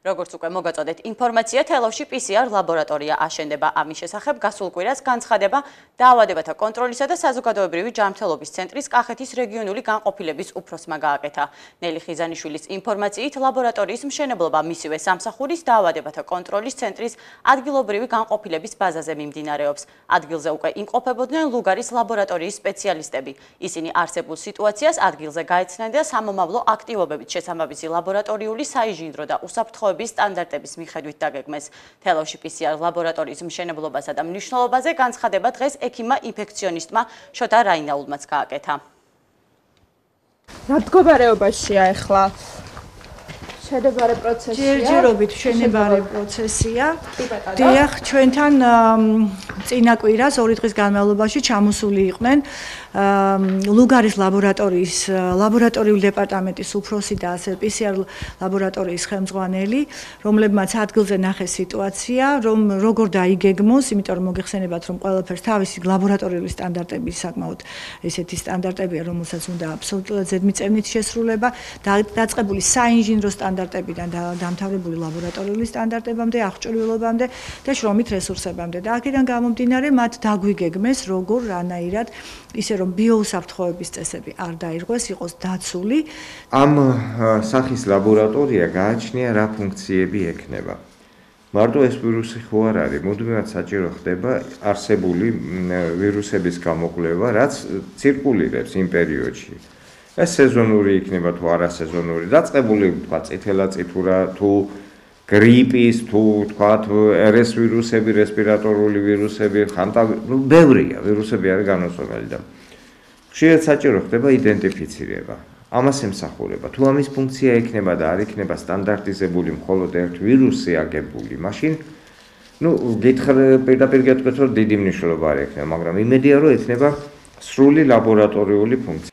როგორც უკვე მოგაწოდეთ ინფორმაცია, თელავში PCR ლაბორატორია აშენდება. ამის შესახებ გასულ კვირას განცხადება დაავადებათა კონტროლისა და საზოგადოებრივი ჯანმრთელობის ცენტრის კახეთის რეგიონული განყოფილების უფროსმა გააკეთა. ნელი ხიზანიშვილის ინფორმაციით, ლაბორატორიის მშენებლობა მისივე სამსახურის დაავადებათა კონტროლის ცენტრის ადგილობრივი განყოფილების ბაზაზე მიმდინარეობს. ადგილზე უკვე იმყოფებოდნენ ლუგარის ლაბორატორიის სპეციალისტები. ისინი არსებულ სიტუაციას ადგილზე გაეცნენ და სამომავლო აქტივობებით შესაბამისი ლაბორატორიული საინჟინრო და უსაფრთხოების სტანდარტების მიხედვით დაგეგმეს. თელავში PCR ლაბორატორიის მშენებლობასა და მნიშვნელობაზე განცხადება დღეს ექიმმა ინფექციონისტმა შოთა რაინაულმაც გააკეთა. რა მდგომარეობაშია ახლა? შენებარე პროცესია? ჯერჯერობით შენებარე პროცესია. დიახ, ჩვენთან წინა კვირას 2 დღის განმავლობაში ჩამოსული იყვნენ ლუგარის ლაბორატორიის ლაბორატორიული დეპარტამენტის უფროსი და ასე PCR ლაბორატორიის ხელმძღვანელი, რომლებმაც ადგილზე ნახეს სიტუაცია, რომ როგორ დაიგეგმოს, იმიტომ რომ მოგეხსენებათ, რომ ყველაფერს თავისი ლაბორატორიული სტანდარტები საკმაოდ ესეთი სტანდარტებია, რომელსაც უნდა აბსოლუტურად ზედმიწევნით შესრულება, დაწყებული საინჟინრო სტანდარტებიდან დამთავრებული ლაბორატორიული სტანდარტებამდე, აღჭურვილობამდე და შრომით რესურსებამდე. და აქედან გამომდინარე, მათ დაგვიგეგმეს, როგორ რანაირად ისე რომ ბიოუსაფრთხოების წესები არ დაირღვეს, იყოს დაცული. ამ სახის ლაბორატორია გააჩნია რა ფუნქციები ექნება. მარტო ეს ვირუსი ხო არ არის, მუდმივად საჭირო ხდება არსებული ვირუსების გამოკვლევა, რაც ცირკულირებს იმ პერიოდში. ეს სეზონური იქნება თუ არასეზონური, დაწყებული თქვა წითელაწითურა თუ გრიპის თუ თქვა RS ვირუსები, რესპირატორული ვირუსები, ბევრია ვირუსები არის განუცდომელი და ხშირად საჭირო ხდება იდენტიფიცირება. ამას ემსახურება. თუ ამის ფუნქცია ექნება და არ იქნება სტანდარტიზებული მხოლოდ ერთ ვირუსზე აგებული, მაშინ პირდაპირ გეტყვით, რომ დიდი მნიშვნელობა არ ექნება, მაგრამ იმედია, რომ ექნება სრული ლაბორატორიული ფუნქცია.